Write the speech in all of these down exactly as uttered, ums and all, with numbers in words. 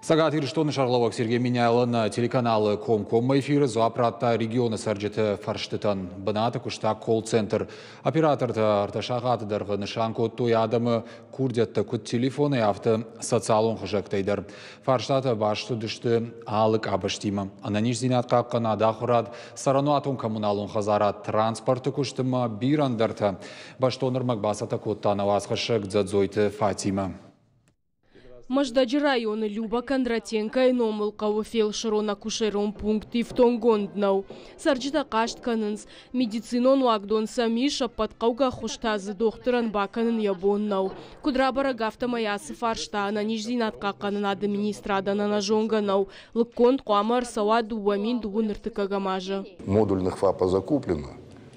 Цӕгат Ирыстоны сӕргълӕууӕг Сергей Меняйло нӕ телеканалы комкоммӕ эфиры дзуапп радта регионы цӕрджыты фӕрстытӕн. Бынаты куыста колл-центр. Оператортӕ ӕртӕ сахаты дӕргъы нысан кодтой адӕмы курдиӕттӕ куыд телефонӕй, афтӕ социалон хызӕгтӕй дӕр. Фарстатӕ баст уыдысты алы къабӕзтимӕ. Ӕнӕниздзинад хъахъхъӕнад, ахуырад, цӕрӕнуатон-коммуналон хӕдзарад, транспорты куыст ӕмӕ бирӕ ӕндӕртӕ. Бӕстон ӕрмӕг бацӕттӕ кодта нӕ уацхӕссӕг Дзӕдзойты Фатимӕ. Мӕздӕджы районы Люба Кондратенкойы номыл хъӕуы фелсырон-акушерон пункт ифтонггонд нӕу. Цӕрджытӕ хъаст кӕнынц, медицинон уагдон сӕм ис, ӕппӕт хъӕугӕ ӕххуыс та дзы дохтырӕн бакӕнын йӕ бон нӕу. Куыд рабӕрӕг, афтӕмӕй ацы фарста ӕнӕниздзинад хъахъхъӕнынады министрадӕн ӕнӕзонгӕ нӕу. Лыггонд хъуамӕ ӕрцӕуа дыууӕ мин дыууын ӕртыккӕгӕм азы. Модульных ФАПа закуплено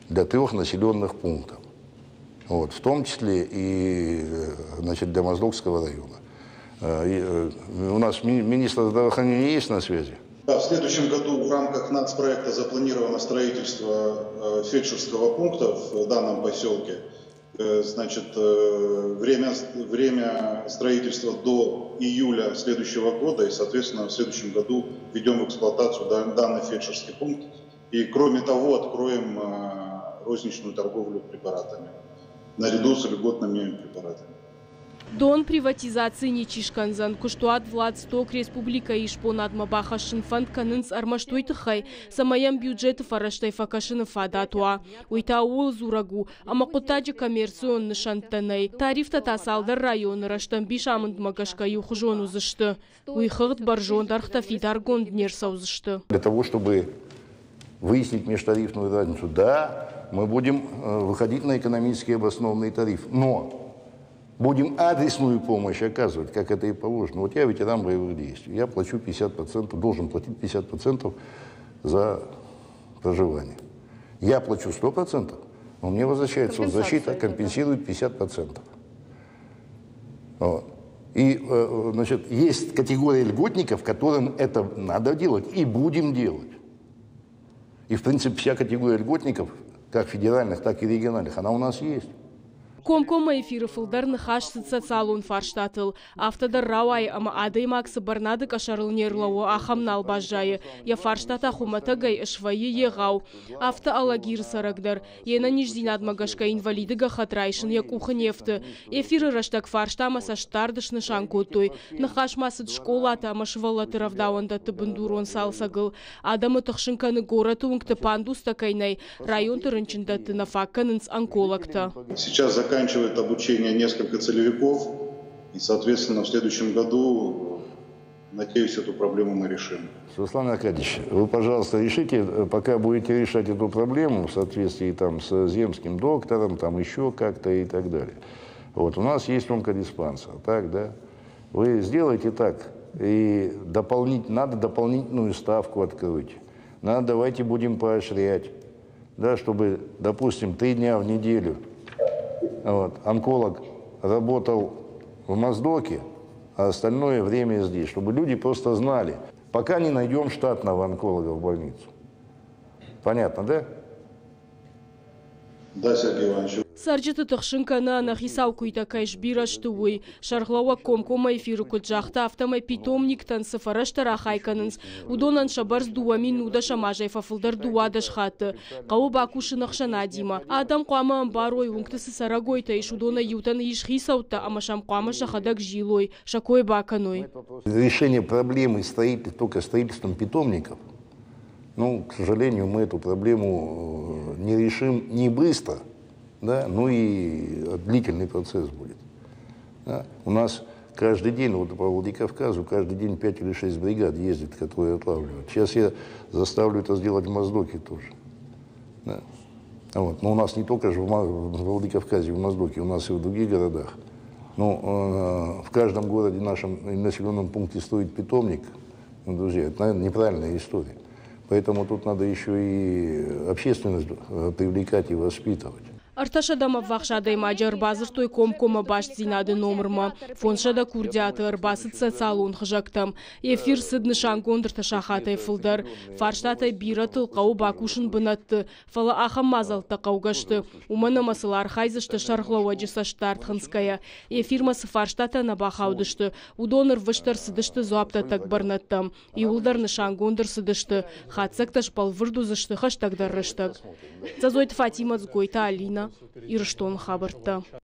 для трех населенных пунктов. Вот, в том числе и, значит, для Моздокского района. У нас министр здравоохранения есть на связи? Да, в следующем году в рамках нацпроекта запланировано строительство фельдшерского пункта в данном поселке. Значит, время, время строительства до июля следующего года, и, соответственно, в следующем году введем в эксплуатацию данный фельдшерский пункт. И, кроме того, откроем розничную торговлю препаратами наряду с льготными препаратами. Дон приватизаци ничи скӕндзӕн. Куыстуат Владсток республикӕйы исбонадмӕ бахӕссын фӕнд кӕнынц ӕрмӕст уый тыххӕй, цӕмӕй йӕм бюджеты фӕрӕзтӕй фӕкӕсыны фадат уа. Уый та ууыл дзурӕг у, ӕмӕ хъуыддаджы коммерцион нысӕнттӕ нӕй. Тарифтӕ та цалдӕр районы рӕстӕмбис амындмӕ гӕсгӕ иухуызон уыдзысты. Уый хыгъд бӕрзонд ӕргътӕ фидаргонд не рцӕудзысты. Для того, чтобы выяснить межтарифную разницу, да, мы будем выходить на экономически обоснованный тариф, но будем адресную помощь оказывать, как это и положено. Вот я ветеран боевых действий, я плачу пятьдесят процентов, должен платить пятьдесят процентов за проживание. Я плачу сто процентов, но мне возвращается соцзащита, компенсирует пятьдесят процентов. Вот. И, значит, есть категория льготников, которым это надо делать и будем делать. И, в принципе, вся категория льготников, как федеральных, так и региональных, она у нас есть. Комкоммӕ эфиры фылдӕр ныхас цыд социалон фарстатыл. Афтӕ дӕр рауайы, ӕмӕ адӕймаг цы бӕрнады къӕсӕрыл не рлӕууы, ахӕм нал баззайы. Йӕ фарстатӕ хуымӕтӕгӕй свӕййы егъау. Афтӕ Алагиры цӕрӕг дӕр. Йе нӕниздзинадмӕ гӕсгӕ инвалиды гӕххӕтт райсын йӕ къухы не фты. Эфиры рӕстӕг фарстамӕ цӕстдард снысан кодтой. Ныхас ма цыд скъолаты ӕмӕ сывӕллӕтты рӕвдауӕндӕтты бындурон цалцӕгыл. Адӕмы тыхсын кӕны горӕты уынгты пандустӕ кӕй нӕй, районты рынчындӕтты нӕ фаг кӕнынц онкологтӕ. Сейчас заканчивает обучение несколько целевиков, и, соответственно, в следующем году, надеюсь, эту проблему мы решим. Руслан Аркадьевич, вы, пожалуйста, решите, пока будете решать эту проблему в соответствии там, с земским доктором, там еще как-то и так далее. Вот, у нас есть онкодиспансер, так, да? Вы сделайте так, и дополнить, надо дополнительную ставку открыть. Надо, давайте будем поощрять, да, чтобы, допустим, три дня в неделю вот, онколог работал в Моздоке, а остальное время здесь, чтобы люди просто знали, пока не найдем штатного онколога в больницу. Понятно, да? Да, Сергей Иванович. Цӕрджыты тыхсын кӕны ӕнӕхицау куыйтӕ кӕй сбирӕ сты, уый. Сӕргълӕууӕг комкоммӕ эфиры куыд загъта, афтӕмӕй питомниктӕн цы фӕрӕзтӕ рахай кӕнынц, уыдонӕн сӕ бӕрц дыууӕ мин нудӕсӕм азӕй фӕфылдӕр дыууадӕс хатты. Хъӕуы бакусын ӕхсӕнадимӕ. Адӕм хъуамӕ ӕмбарой, уынгты цы цӕрӕгойтӕ ис, уыдонӕй иутӕн ис хицӕуттӕ ӕмӕ сӕм хъуамӕ сӕхӕдӕг зилой, сӕ кой бакӕной. Решение проблемы стоит только строительством питомников. Ну, к сожалению, мы эту проблему не решим не быстро, да, ну и длительный процесс будет. Да. У нас каждый день, вот по Владикавказу, каждый день пять или шесть бригад ездит, которые отлавливают. Сейчас я заставлю это сделать в Моздоке тоже. Да. Вот. Но у нас не только же в Ма-, в Владикавказе, в Моздоке, у нас и в других городах. Ну, э, в каждом городе нашем населенном пункте стоит питомник. Ну, друзья, это, наверное, неправильная история. Поэтому тут надо еще и общественность, э, привлекать и воспитывать. Ӕртӕсӕдӕмӕ ӕввахс адӕймаджы ӕрбадзырдтой комкоммӕ бастдзинады номырмӕ. Фондзсӕдӕ курдиаты ӕрбацыд социалон хызӕгтӕм. Эфир цыд нысангонд ӕртӕ сахатӕй фылдӕр. Фарстатӕй бирӕтыл хъӕуы бакусын бынӕтты, фӕлӕ ахӕм мадзӕлттӕ хъӕугӕ сты, уымӕн ӕмӕ сыл архайдзысты сӕргълӕууӕджы цӕстдард хынцгӕйӕ. Эфирмӕ цы фарстатӕ нӕ бахаудысты, уыдон ӕрвыст ӕрцыдысты дзуапдӕттӕг бӕрнӕдтӕм. Иууылдӕр нысангонд ӕрцыдысты. Хатдзӕгтӕ сбӕлвырд уыдзысты хӕстӕгдӕр рӕстӕг. Дзӕдзойты Фатимӕ, Дзгойты Алинӕ, Ирыстоны хабӕрттӕ.